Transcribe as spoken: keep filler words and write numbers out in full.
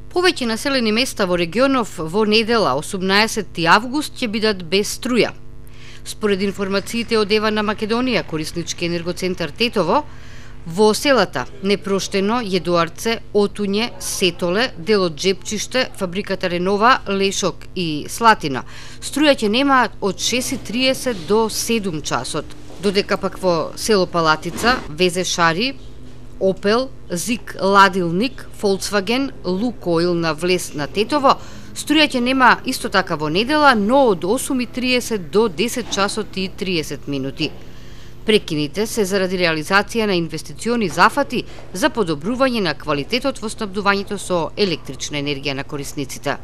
Повеќе населени места во регионов во недела осумнаесети август ќе бидат без струја. Според информациите од Ева на Македонија, кориснички енергоцентар Тетово, во селата Непроштено, Једоарце, Отуње, Сетоле, дел од Джепчиште, фабриката Ренова, Лешок и Слатина, струја ќе немаат од шест и триесет до седум часот, додека пак во село Палатица, Везе Шари, Опел, Зик Ладилник, Volkswagen, Лукойл на влез на Тетово, струја ќе нема исто така во недела, но од осум и триесет до десет часот и триесет минути. Прекините се заради реализација на инвестициони зафати за подобрување на квалитетот во снабдувањето со електрична енергија на корисниците.